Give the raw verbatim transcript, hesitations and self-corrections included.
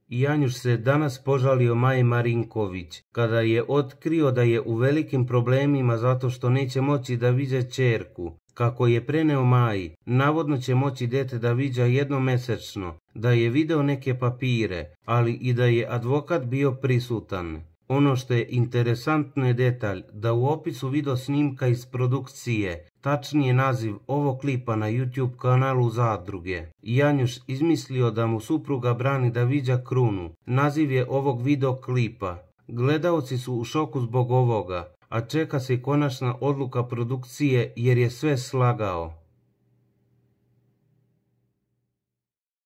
Janjuš se danas požalio Maji Marinković kada je otkrio da je u velikim problemima zato što neće moći da viđa ćerku. Kako je preneo Maji, navodno će moći dete da viđa jednom mesečno, da je video neke papire, ali i da je advokat bio prisutan. Ono što je interesantno je detalj da u opisu video snimka iz produkcije, tačnije naziv ovog klipa na YouTube kanalu Zadruge, Janjuš izmislio da mu supruga brani da viđa krunu. Naziv je ovog video klipa. Gledaoci su u šoku zbog ovoga, a čeka se konačna odluka produkcije jer je sve slagao.